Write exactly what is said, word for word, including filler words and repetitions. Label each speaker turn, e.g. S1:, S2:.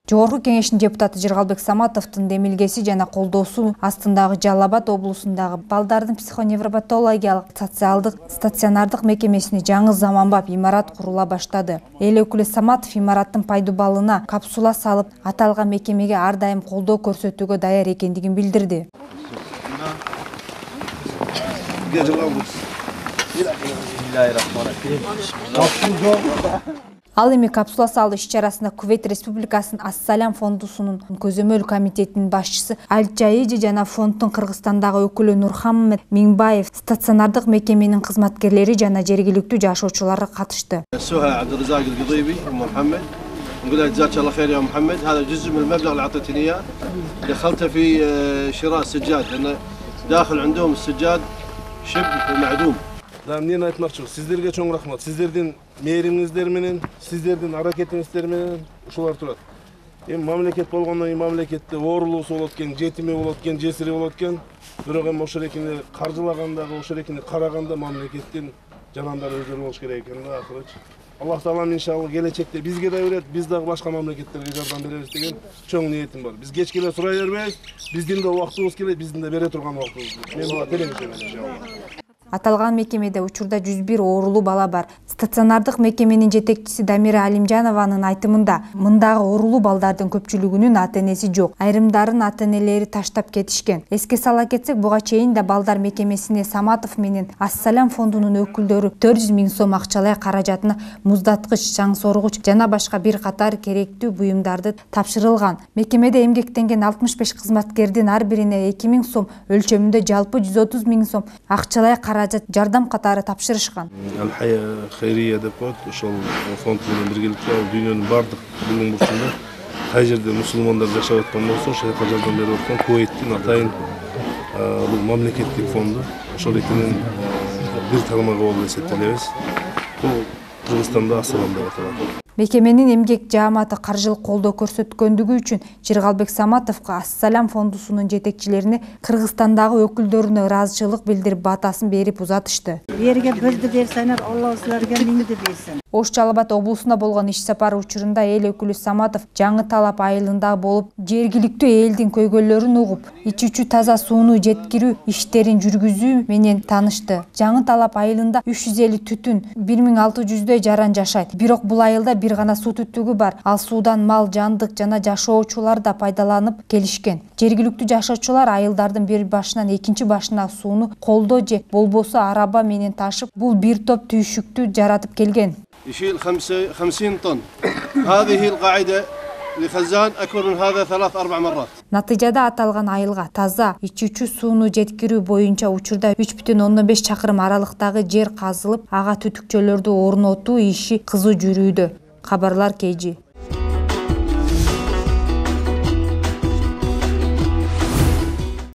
S1: Жогорку Кеңештин депутаты Жыргалбек Саматовдун демилгеси жана колдоосу астындагы Жалал Абад облусундагы балдардын психоневропатологиялык социалдык стационардык мекемесине жаңы заманбап имарат курула баштады. Эл өкүлү Саматов имараттын пайдубалына капсула салып, аталган мекемеге ар дайым колдоо көрсөтүүгө даяр экендигин билдирди. Ал эми капсула салуу иш-чарасында Кувейт Республикасынын Ас-Салям фондусунун көзөмөл комитетинин башчысы Аль-Джаиджи жана фонддун Кыргызстандагы өкүлү Нурхаммед Миңбаев, стационардык мекеменин кызматкерлери жана жергиликтүү жашоочулар катышты.
S2: نقول لك جزاك الله خير يا محمد. هذا جزء من المبلغ اللي اعطيتني اياه دخلته في شراء سجاد لان داخل عندهم السجاد شبه معدوم.
S3: Да, мен айтмакчы, сиздерге чоң рахмат. Сиздердин мээримиңиздер менен, сиздердин аракетиңиздер менен ушулар турат. Эми мамлекет болгондон кийин мамлекетте оорулуусу болот экен, жетими болот экен, жесири болот экен. Бирок эми ошол экени каржылагандагы, ошол экени караганда мамлекеттин жанандары өздөрү болуш керек экен да акырычы. Аллах таалам иншалла келечекте бизге да берет, биз дагы башка мамлекеттерге жардам беребиз деген чоң ниетим бар. Биз кечке эле сурай бербейбиз, биздин да убактыбыз келет, биздин да бере турган убактыбыз. Мен буга телеңишемин иншалла.
S1: Аталган мекемеде учурда жүз бир оорулуу бала бар. Стационардык мекеменин жетекчиси Дамира Алимжанованын айтымында, мындагы оорулуу балдардын көпчүлүгүнүн ата-энеси жок. Айрымдарын ата-энелери таштап кетишкен. Эске сала кетсек, буга чейин да балдар мекемесине Саматов менен Ас-Салям фондунун өкүлдөрү төрт жүз миң сом акчалай каражатына муздаткыч, чаң соргуч жана башка бир катар керектүү буюмдарды тапшырылган. Мекемеде эмгектенген алтымыш беш кызматкердин ар бирине эки миң сом өлчөмүндө жалпы жүз отуз миң сом акчалай жардам катары тапшырышкан.
S3: Аль-Хая Хайрия деп коет, ошол фонд менен биргеликте дүйнөнүн бардык бүгүн бурчунда кай жерде мусулмандар жашап аткан болсо, ошого жардам берип аткан Кувейттин атайын бул мамлекеттик фонду. Ошол экенин бир тармагы болуп эсептелебиз. Бул Кыргызстанда Ас-Салям деп аталат.
S1: Мекеменин эмгек жааматы каржылык колдоо көрсөткөндүгү үчүн Жыргалбек Саматовго Ас-Салям фондусунун жетекчилерине Кыргызстандагы өкүлдөрүнө ыраазычылык билдирип батасын берип узатышты.
S4: Берге бирди берсеңер, Алла силерге миңди берсин.
S1: Ош Жалал Абад облусуна болгон иш сапары учурунда эл өкүлү Саматов Жаңы Талап айылында болуп, жергиликтүү элдин көйгөйлөрүн угуп, ичүүчү таза сууну жеткирүү иштерин жүргүзүү менен таанышты. Жаңы Талап айылында үч жүз элүү түтүн, бир миң алты жүздөй жаран жашайт. Бирок бул айылда бир гана суу түтүгү бар. Ал суудан мал, жандык жана жашоочулар да пайдаланып келишкен. Жергиликтүү жашоочулар айылдардын бир башынан экинчи башына сууну колдо же болбосо араба менен ташып, бул бир топ түйшүктү жаратып келген.
S2: يشيل خمسين طن. هذه القاعدة لخزان أكبر من هذا ثلاث أربع مرات.
S1: Натыйжада аталган айылга таза ичүүчү сууну жеткирүү боюнча учурда үч бүтүн ондон беш чакырым аралыктагы жер казылып, ага түтүкчөлөрдү орнотуу иши кызуу жүрүүдө. Кабарлар Кей Жи.